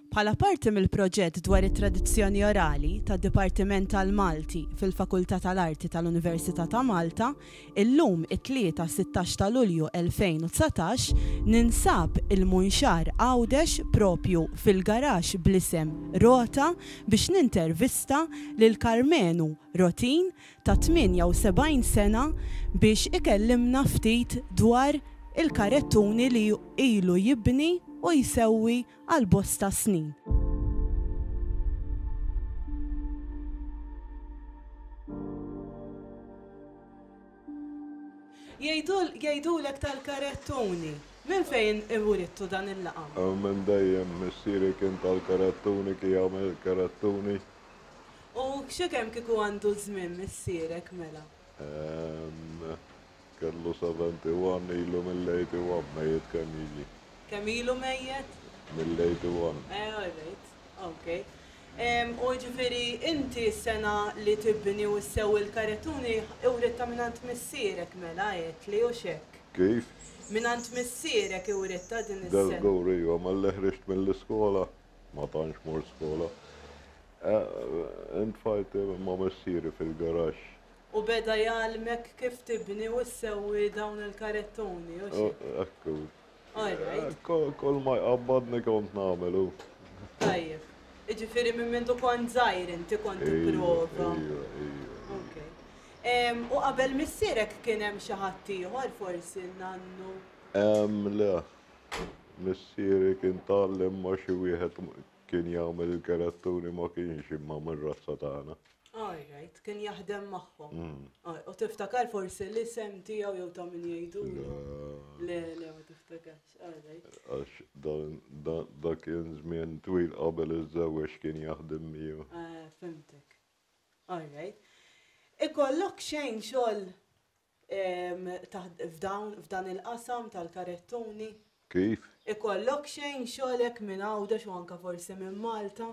Bħala parti mill-proġett dwar it-tradizzjoni orali tad-Dipartiment tal-Malti fil-Fakultà tal-Arti tal-Università ta' Malta, illum it-Tlieta 16 ta' Lulju 2019 ninsab il-Munxar Għawdex propju fil-garaxx bl-isem Rota biex nintervista lil Karmenu Rotin ta' 78 sena biex ikellimna ftit dwar il-karettuni li ilu jibni u jsewwi għal bosta snin. Jgħidulek tal-karettuni. Minn fejn iwrittu dan il-laqam? Minn dejjem, missieri kien tal-karettuni, kien jagħmel il-karettuni. U xi kemm kieku għandu żmien missierek mela? Kellu 71, ilu mill-81 mejjet kemm jiġi. Kemm ilu mejjet? Mill-81. Eh, all right. Ok. U ġifieri inti s-sena li tibni u ssewwi l-karettuni iwrittha mingħand missierek mela għedtli hux hekk? Kif? Mingħand missierek iwrittha din is-sengħa. Dażgur iva, malli ħriġt mill-iskola, ma tantx mort skola, intfajt ma' missieri fil-garaxx. U beda jgħallmek kif tibni u ssewwi dawn il-karettuni, hux hekk? Hekk hu. All right. Kull ma jqabbadni kont nagħmel hu. Tajjeb. Jiġifieri minn mindu kont żgħir inti kont tipprova. Iva, iva. Ok. U qabel missierek kien hemm xi ħadd ieħor forsi n-nannu? Le. Missieri kien tgħallem ma' xi wieħed kien jagħmel il-karettuni ma kienx imma mir-razza tagħna. All right, kien jaħdem magħhom. U tiftakar forsi l-isem tiegħu jew ta' min jgħidulu? Le, le, ma tiftakarx. All right. Għax dak kien żmien twil qabel iżżewweġ kien jaħdem miegħu. Eh, fhimtek. All right. Ikollok xejn xogħol f'dan il-qasam tal-karettuni? Kif? Ikollok xejn xogħol hekk minn Għawdex u anke forsi minn Malta?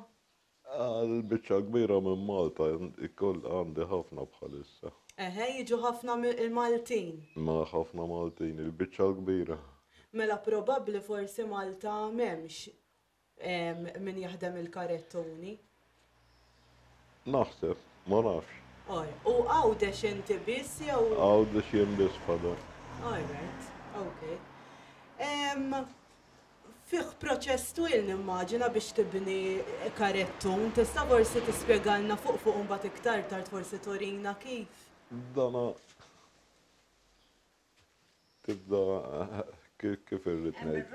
Għal-biċċa kbira minn Malta ikoll għandi ħafna bħalissa. Eħe, jiġu ħafna il-Maltin. Ma ħafna Maltin, il-biċċa l-kbira. Mela probabbli forsi Malta m'hemmx min jaħdem il-karettuni. Naħseb, ma nafx. U Għawdex inti biss jew? Għawdex jien biss fadal. All right, okay. Fih proċess twil nimmaġina biex tibni karettun, tista' forsi tispjegalna fuq fuq imbagħad iktar tard forsi turina kif? Dana tibda kif irrid ngħid.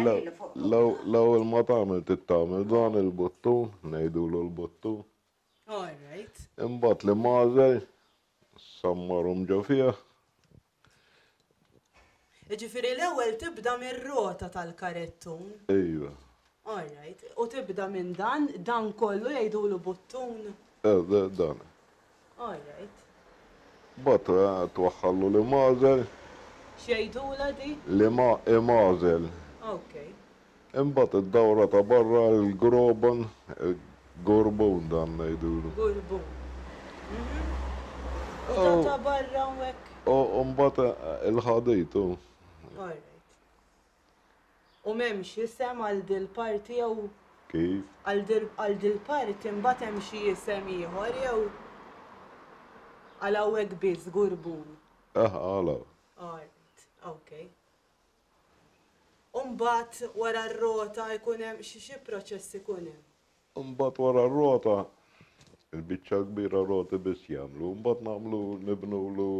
L-ewwel ma tagħmel trid tagħmel dan il-buttun, ngħidulu l-buttun. All right. Imbagħad li magħżel, sammarhom ġo fih. Jiġifieri l-ewwel tibda mir-rota tal-karettun. Iva. All right. U tibda minn dan, dan kollu jgħidulu buttun? Eh, dan. All right. Mbagħad twaħħallu l-imgħażel. X'jgħidulha di? L-imgħażel. Okay. Imbagħad id-dawra ta' barra l-groban, il-gorbun dan ngħidulu. Gorbun. U ta' ta' barra hawnhekk? U mbagħad il-ħadid hu. All right. U m'hemmx isem għal dil-parti jew? Kif? Għal dil-parti mbagħad hemm xi isem ieħor jew għal hawnhekk biss gorbun? Eh, għal hawn. All right, okay. U mbagħad wara r-rota jkun hemm xi xi proċess ikun hemm? Imbagħad wara r-rota, il-biċċa l-kbira roti biss jagħmlu, mbagħad nagħmlu nibnulu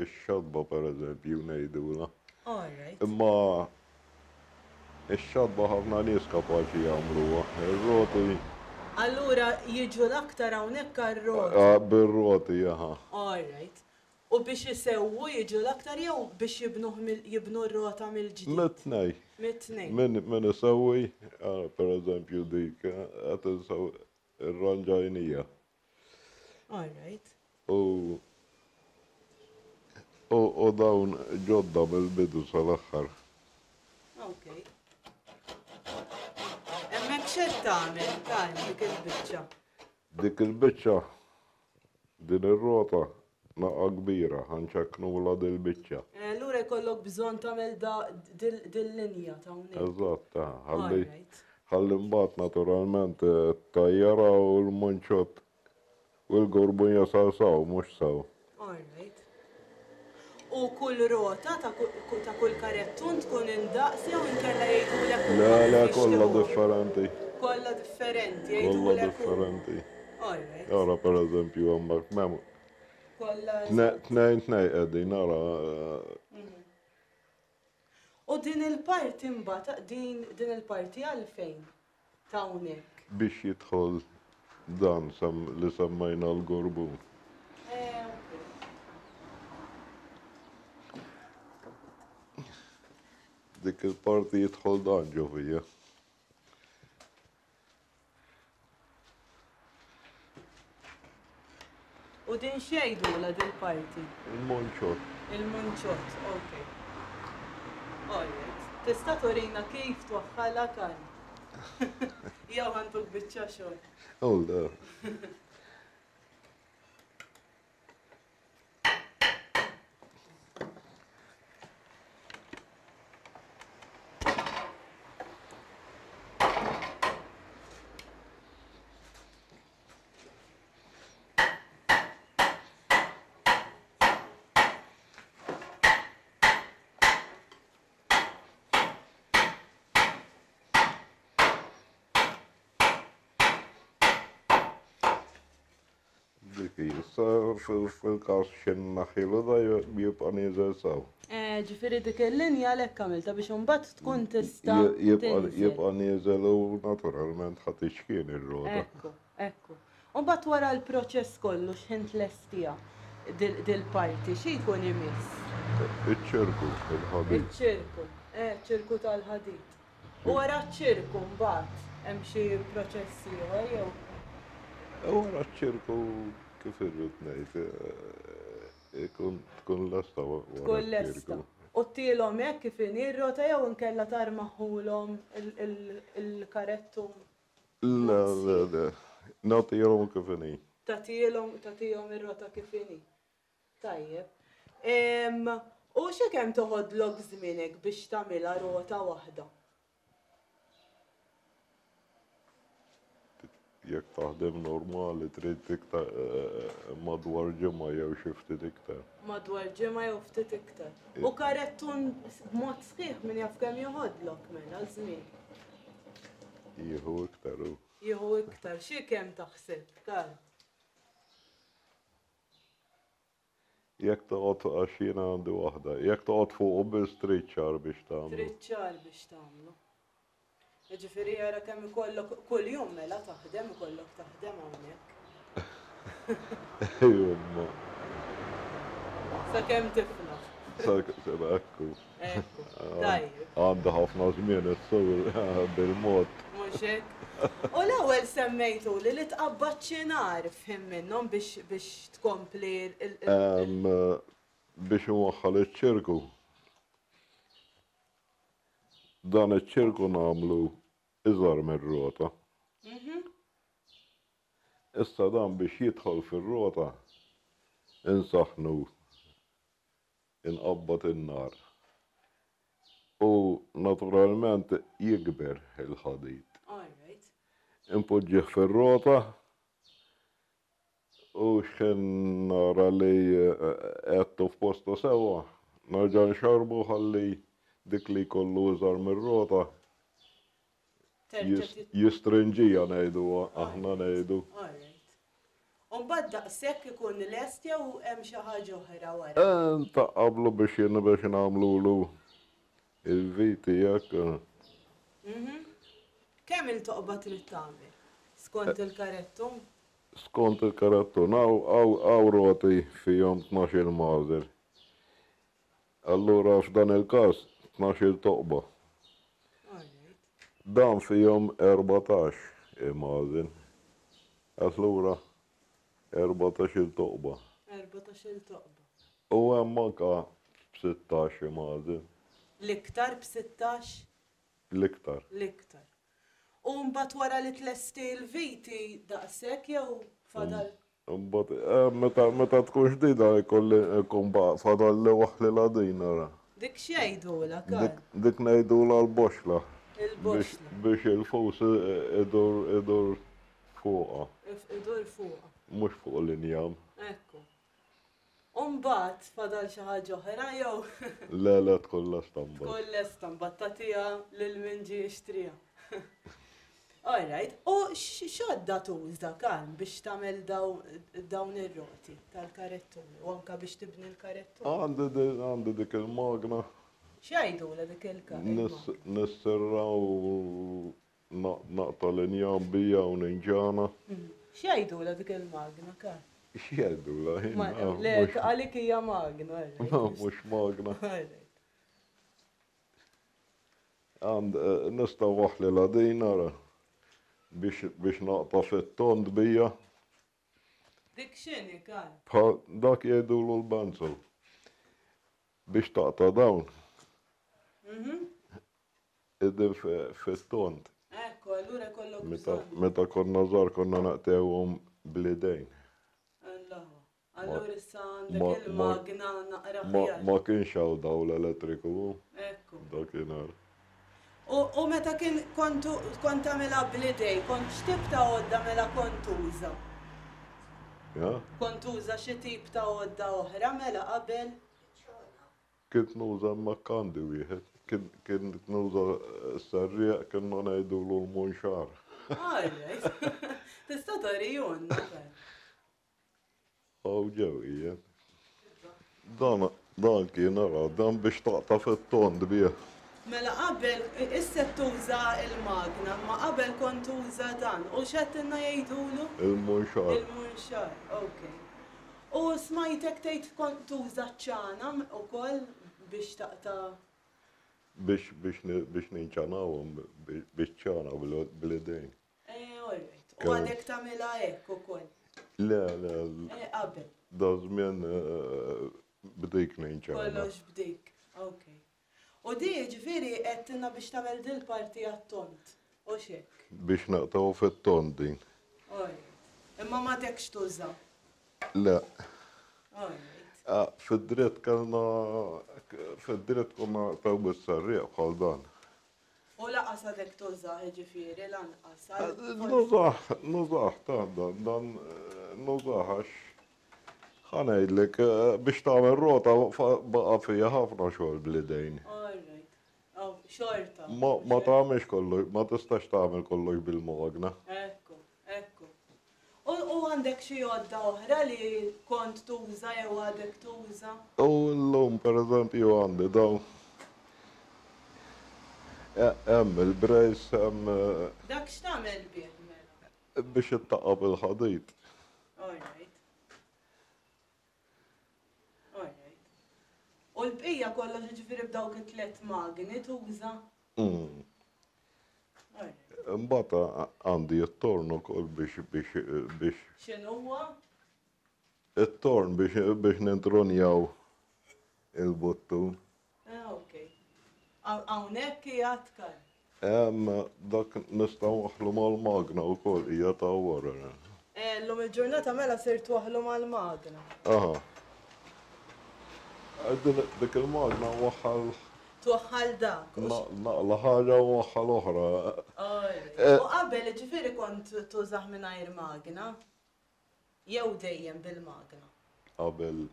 x-xatba pereżempju ngħidulha. All right. Imma x-xatba ħafna nies kapaċi jagħmluha, ir-roti. Allura jiġu l-aktar hawnhekk għar-roti. Bir-roti, aha. All right. U biex isewwu jiġu l-aktar jew biex jibnuh jibnu r-rota mill-ġdid? Mit-tnejn. Mit-tnejn. Min min isewwi, per eżempju dik qed insewwi rranġajnija. All right. U u u dawn ġodda mill-bidu sal-aħħar. Ok. Hemmhekk x'qed tagħmel, Karm, dik il-biċċa? Dik il-biċċa Din ir-rota naqa' kbira, ħa nċekknulha dil-biċċa. Allura jkollok bżonn tagħmel da dil-linja ta' hawnhekk. Eżatt, ħalli Alright. Ħalli mbagħad naturalment it-tajjara u l-munċott u l-gorbun jasal saw, mhux saw. All right. U kull rota ta' kull karettun tkun indaqs jew inkella jgħidulek huma Le, le, kif kollha jixtiquha? differenti. Kollha differenti, Kollha jgħidulek huma. differenti. All right. Ara pereżempju hemmhekk m'hemm Kollha eżatt. tnejn tnejn qegħdin ara. U din il-parti mbagħad din din il-parti għalfejn ta' hawnhekk? Biex jidħol dan sem li semmejna l-gorbun. Eh, ok. Dik il-parti jidħol dan ġo fija. U din x'jgħidulha dil-parti? Il-munċott. Il-munċott, ok. Alright. Tista' turina kif twaħħalha Karl? Jew ħantuk biċċa xogħol. Oh, le. Dik hi. Issa fil-każ x'in naħilu da jibqa' nieżel sew. Eh, ġifieri dik il-linja għalhekk għamiltha biex imbagħad tkun tista' tinżel. Jibqa' nieżel u naturalment ħa tixkien ir-rota. Ekku, ekku. U mbagħad wara l-proċess kollu x'ħin tlestiha dil-parti, xi jkun imiss? Iċ-ċirku, il-ħadid. Iċ-ċirku, eh, ċirku tal-ħadid. U wara ċ-ċirku mbagħad hemm xi proċess ieħor jew? Wara ċ-ċirku kif irrid ngħid, ikun tkun lesta wara. Tkun lesta. U ttielhom hekk kif inhi r-rota jew inkella tarmaħulhom il-karettun? Le, le, le. Nagħtihom kif inhi. Tagħtihom tagħtihom ir-rota kif inhi. Tajjeb. U xi kemm toħodlok żmien hekk biex tagħmilha rota waħda? Jekk taħdem normali trid iktar madwar ġimgħa jew xi ftit iktar. Madwar ġimgħa jew ftit iktar. U karettun b'mod sħiħ min jaf kemm joħodlok mela żmien. Jieħu iktar hu. Jieħu iktar. Xi kemm taħseb, Karl? Jekk toqgħod għax jiena għandi waħda. Jekk toqgħod fuqu biss trid xahar biex tagħmlu. Trid xahar biex tagħmlu. Jiġifieri ara kemm ikollok kuljum mela taħdem ikollok taħdem hawnhekk. Ejwa. Sakemm tiflaħ. Sakemm ekku. Ekku. Tajjeb. Għandi ħafna żmien issur bil-mod. Mhux hekk? U l-ewwel semmejtuli li tqabbad xi nar f'ħin minnhom biex biex tkompli il. Biex inwaħħal iċ-ċirku. Dan iċ-ċirku nagħmlu iżgħar mir-rota. Issa dan biex jidħol fir-rota insaħħnu inqabbad in-nar u naturalment jikber il-ħadid. Inpoġġih fir-rota u x'ħin nara li qegħdtu f'postu sewwa, nerġa' nxarrbu ħalli dik li jkollu iżgħar mir-rota jistrinġiha ngħidu aħna ngħidu. U mbagħad daqshekk ikun lest jew hemm xi ħaġa oħra wara? Ntaqqablu biex biex nagħmlulu il-viti hekk. Kemm il-toqba trid tagħmel? Skont il-karettun? Skont il-karettun. Hawn roti fihom 12-il magħżel. Allura f'dan il-każ 12-il toqba. Dan fihom 14 imgħażel. Allura 14-il toqba. 14-il toqba. U hemm anka b'16 imgħażel. L-iktar b'16? L-iktar. L-iktar. U mbagħad wara li tlesti l-viti daqshekk jew fadal? Imbagħad eh, meta meta tkun ġdida jkolli jkun baqa' fadalli waħlilha din ara. Dik x'jgħidulha, Karl? Dik dik ngħidulha l-boxla. Il-boxla. Biex il-fus idur idur fuqha. Idur fuqha. Mhux fuq l-injam. Ekku. U mbagħad fadal xi ħaġa oħra jew? Le, le, tkun lesta mbagħad. Tkun lesta mbagħad tagħtiha lil min ġie jixtriha. All right. U x'għodda tuża Karm biex tagħmel dawn ir-roti tal-karettuni u anke biex tibni l-karettuni? Għandi dik il-magna. X'jgħidulha dik il-magna? Nisserra u Naqta' l-injam bija u ninġana. X'jgħidulha dik il-magna, Karl? X'jgħidulha hi? Le, għalik hija magna. Mhux magna. Għand nista' waħlilha din ara biex naqta' fit-tond bija. Dik x'inhi, Karl? Bħal dak jgħidulu l-banzel. Biex taqta' dawn. Qegħdin fit-tond. Ekku, allura jkollok bżonn. Meta konna żgħar konna naqtgħuhom bl-idejn. Allaħwa. Allura issa għandek il-magna naqra aħjar. Ma kienx hawn dawl elettriku. Ekku. Dakinhar. U meta kien kontu kont tagħmilha bl-idej, kont x'tip ta' għodda mela kont tuża? Kont tuża xi tip ta' għodda oħra mela qabel? Kint nuża hemmhekk għandi wieħed. Kint nuża s-serrieq kienna ngħidulu l-munxar. All right. Tista' turihulna dan. Hawn ġew qiegħed. Dan dan kien ara, dan biex taqta' fit-tond bih. Mela qabel, issa qed tuża l-magna, imma qabel kont tuża dan. U x'għedtilna jgħidulu? Il-munxar. Il-munxar, okay. U smajtek tgħid kont tuża ċ-ċana ukoll biex taqta'. Biex biex biex ninċanawhom biċ-ċana bl-idejn. Eh, all right. U għadek tagħmilha hekk ukoll? Le, le. Eh, qabel. Da żmien b'dik ninċana. Kollox b'dik, okay. U di jiġifieri għedtilna biex tagħmel dil-parti għat-tond, hux hekk? Biex naqtgħu fit-tond din. All right. Imma m'għadekx tuża? Le. All right. Fid-dritt kellna, fid-dritt konna naqtgħu bis-serrieq bħal dan. U laqas għadek tużah jiġifieri lanqas. Nużah, nużah ta' dan, dan nużah għax ħa ngħidlek biex tagħmel rota baqa' fiha ħafna xogħol bl-idejn. All right. Oh, xorta. Ma tagħmilx kollox, ma tistax tagħmel kollox bil-magna. Ekku, ekku. U għandek xi għodda oħra li kont tuża jew għadek tuża? U llum pereżempju għandi dawn. Hemm il-brace, hemm. Dak x'tagħmel bih mela? Biex ittaqqab il-ħadid. All right. All right. U l-bqija kollox jiġifieri b'dawk it-tlett magni tuża? Mm. Imbagħad għandi t-torn ukoll biex biex biex. X'inhuwa? It-torn biex biex nintrunjaw il-buttun. Ah, ok. Hawnhekk qiegħed Karl. Hemm dak nistgħu waħħlu mal-magna wkoll hija ta' wara. Eh, llum il-ġurnata mela sirt twaħħlu mal-magna. Aha. Dik il-magna waħħal. Twaħħal dak. Naqla ħaġa u waħħal oħra. U qabel ġifieri kont tużah mingħajr magna? Jew dejjem bil-magna? Qabel.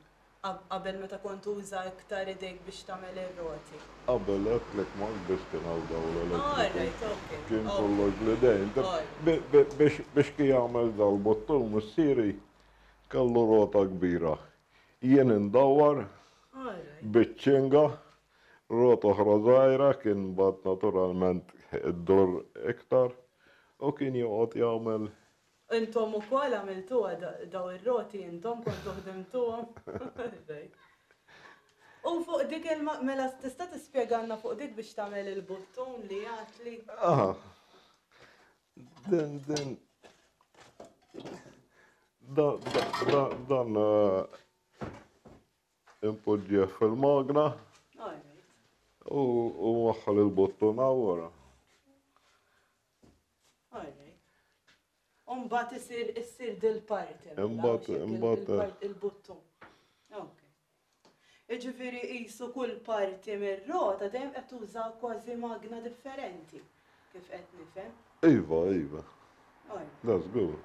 Qabel meta kont tuża iktar idejk biex tagħmel ir-roti. Qabel għedtlek ma biss kien hawn dawl elettriku. Kien kollox bl-idejn. Biex kien jagħmel dal-buttun missieri kellu rota kbira. Jien indawwar biċ-ċinga, rota oħra żgħira kien mbagħad naturalment iddur iktar u kien joqgħod jagħmel. Intom ukoll għamiltuha dawn ir-roti intom kontu ħdimtuhom? U fuq dik il mela tista' tispjegalna fuq dik biex tagħmel il-buttun li għadtli? Aha. Din din dan impoġġih fil-magna u waħħal il-buttuna wara. Umbat isir issir dil-parti. Imbagħad imbagħad il-buttun. Jiġifieri qisu kull parti mir-rota dejjem qed tuża kważi magna differenti, kif qed nifhem. Iva, iva. Da żgur.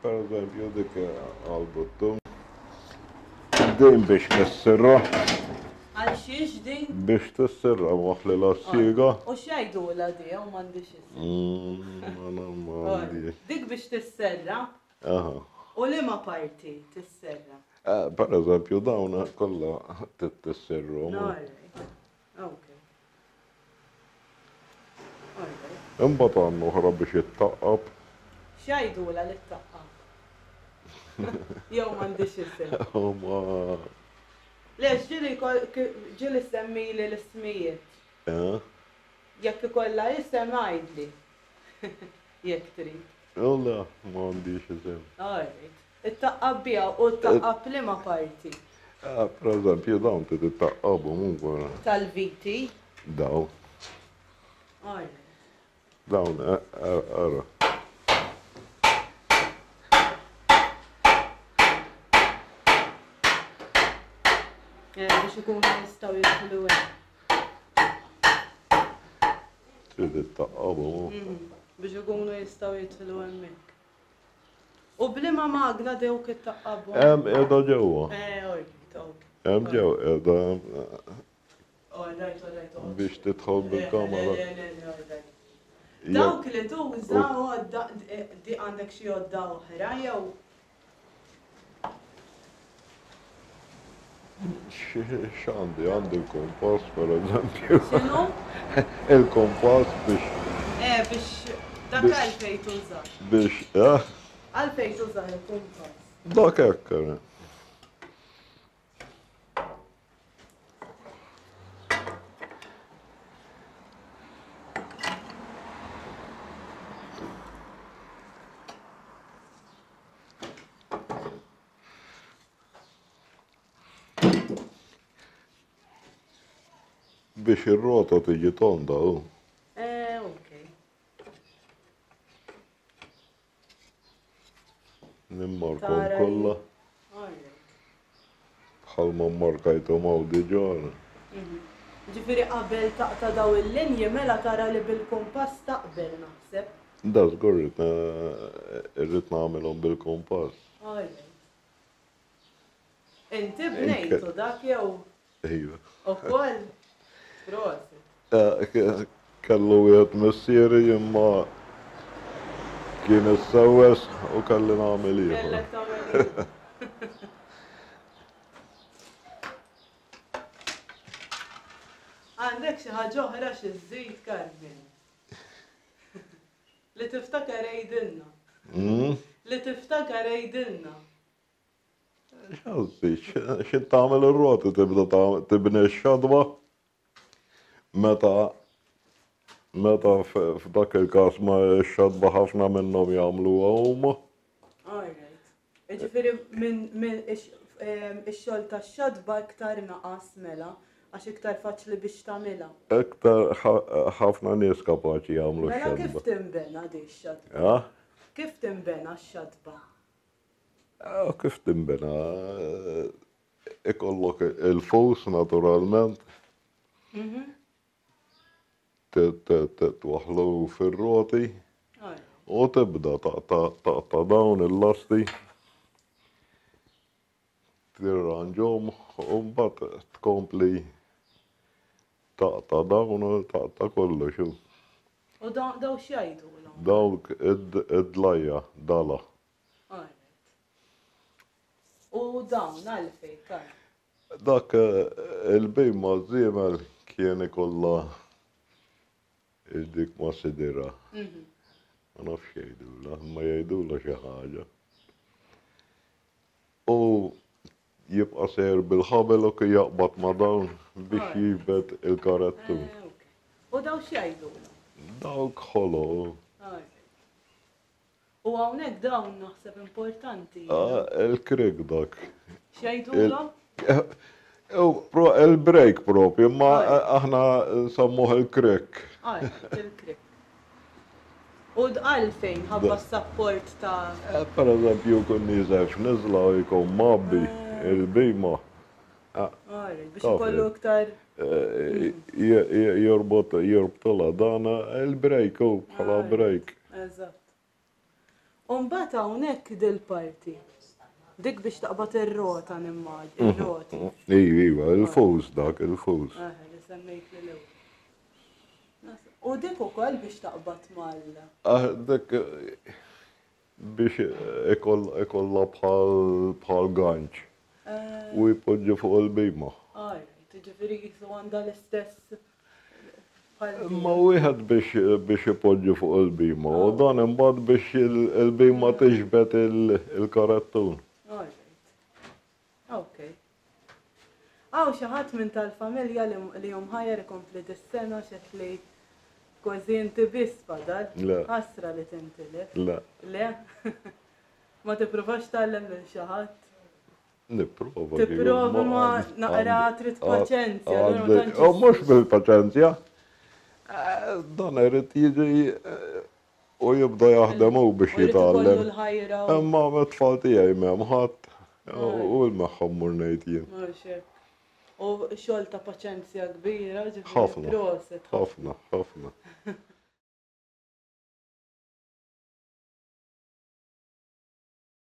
Per eżempju dik għall-buttun. Din biex tissirra. Għal xiex din? Biex tissirra waħli la siega. U x'jgħidulha di jew m'għandix isem? M'għandix. Dik biex tisserra? Aha. U liema parti tisserra? Per eżempju dawn kollha tissirrhom. Okay. Imbagħad għandna oħra biex ittaqqab. X'jgħidulha li ttaqqab? Jew m'għandix isem? Ma. Le, ġieli ġieli semmili l-ismijiet. Eh? Jekk ikollha isem għidli. Jekk trid. Le, m'għandix isem. All right. Ittaqqab biha u ttaqqab liema parti? Per eżempju dawn trid ittaqqabhom ukoll. Tal-viti? Dawn. All right. Dawn, ara. Eh, biex ikunu jistgħu jidħlu hemm. Trid ittaqqabhom. Mhm. Biex ikunu jistgħu jidħlu hemmhekk. U b'liema magna dewk ittaqqabhom? Hemm qiegħda ġewwa. Eh, alright, okay. Hemm ġew qiegħda All right, all right. Biex tidħol bil-kamera. Le, le, le, all right. Dawk li tuża għodda, di għandek xi għodda oħra jew? X'għandi? Għandi l-kompass per eżempju. X'inhu? Il-kompass biex. Eh, biex dak għalfejn tuża. Biex, eh? Għalfejn tuża il-kompass. Dak hekk. Biex ir-rota tiġi tonda hu. Eh, okay. Nimmarkom kollha. Bħalma mmarkajthom hawn diġà. Mhm. Ġifieri qabel taqta' daw il-linji mela tara li bil-kumpass taqbel naħseb. Da żgur irrid nagħmilhom bil-kumpass. Inti bnejtu dak jew? Iva. Ukoll? Prosit. Kellu wieħed missieri imma kien issewwes u kelli nagħmel ieħor. Kellek tagħmel ieħor. Għandek xi ħaġa oħra xi żżid, Carmen? Li tiftakar għidilna. Hmm? Li tiftakar għidilna. X'għażżi, xi tagħmel ir-roti tibda tibni x-xadwa meta meta f'dak il-każ ma x-xadba ħafna minnhom jagħmluha huma. All right. Jiġifieri minn ix-xogħol tax-xadba iktar naqas mela għax iktar faċli biex tagħmilha. Iktar ħafna nies kapaċi jagħmlu x-xadba. Mela kif tinbena di x-xadba? Kif tinbena x-xadba? Kif tinbena? Ikollok il-fus naturalment. Twaħħlu fir-roti u tibda taqta' dawn il-lasti, tirranġhom u mbagħad tkompli taqta' dawn u taqta' kollox. U dawn x'jgħidulhom? Dawk id-dlajja, dala. U dawn għalfejn, Karl? Dak il-bhim maż-żiemel kien ikollha dik ma' sidirha. Ma nafx x'jgħidulha, imma jgħidulha xi ħaġa. U jibqa' sejjer bil-ħabel u kien jaqbad ma' dawn biex jiġbed il-karettun. U dawn x'jgħidulhom? Dawk ħolo. U hawnhekk dawn naħseb importanti. Ah, il-krik dak. X'jgħidulhom? Il-break propju, imma aħna nsemmuh il-krik. Ah, il-krik. U għalfejn ħabba s-sapport ta' Eh, per eżempju, kun nieżel f'niżla u jkun mgħabbi eh. il-bima. Biex ikollu iktar. Jorbot, jorbtolha dan il-brejk hu bħala brejk. Eżatt. U mbagħad hawnhekk dil-parti. Dik biex taqbad ir-rota nimmaġina, ir-roti. Iva, iva, il-fus dak, il-fus. Li semmejt li l-ewwel. U dik ukoll biex taqbad mal. Ah, dik biex ikollha bħal ganċ u jpoġġi fuq il-bima. Ġifieri jisu għandha l-istess. Imma wieħed biex ipoġġi fuq il-bima u dan imbagħad biex il-bima tiġbed il-karettun. Ok. Hawn xi ħadd minn tal-familja li hu mħajjar ikompli dis-sena x'qed li kważi inti biss fadal. Le. Ħasra li tintilef. Le. Le? Ma tippruvax tgħallem lil xi ħadd? Nipprova. Tipprova ma naqra trid paċenzja. U mhux bil-paċenzja. Dan irid jiġi U jibda jaħdem hu biex jitgħallem. Imma mit-tfal tiegħi m'hemm ħadd u l-magħhom mmur ngħid jien. Mhux hekk. U xogħol ta' paċenzja kbira, ġifieri Ħafna. Proset. Ħafna, ħafna.